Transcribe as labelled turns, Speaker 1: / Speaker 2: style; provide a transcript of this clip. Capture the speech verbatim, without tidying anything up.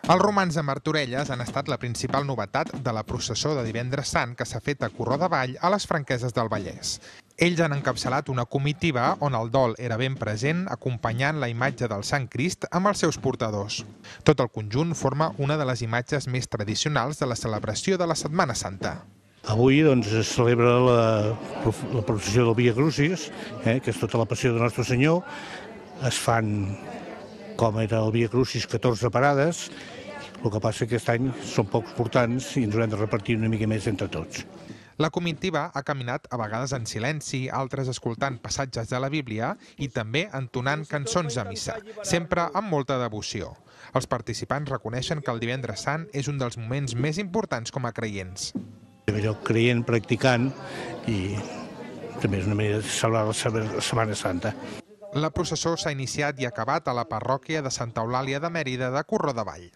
Speaker 1: Els romans de Martorelles han estat la principal novetat de la processó de Divendres Sant que s'ha fet a Corró de Vall, a les Franqueses del Vallès. Ells han encapçalat una comitiva on el dol era ben present, acompanyant la imatge del Sant Crist amb els seus portadors. Tot el conjunt forma una de les imatges més tradicionals de la celebració de la Setmana Santa.
Speaker 2: Avui doncs, es celebra la, la processió del Via Crucis, eh, que és tota la passió de Nostre Senyor. Es fan, com era el Via Crucis, catorze parades. El que passa que aquest any són pocs portants i ens haurem de repartir una mica més entre tots.
Speaker 1: La comitiva ha caminat a vegades en silenci, altres escoltant passatges de la Bíblia i també entonant cançons de missa, sempre amb molta devoció. Els participants reconeixen que el Divendres Sant és un dels moments més importants com a creients.
Speaker 2: Jo creient, practicant i també és una manera de celebrar la Setmana Santa.
Speaker 1: La processó s'ha iniciat i acabat a la parròquia de Santa Eulàlia de Mèrida de Corró de Vall.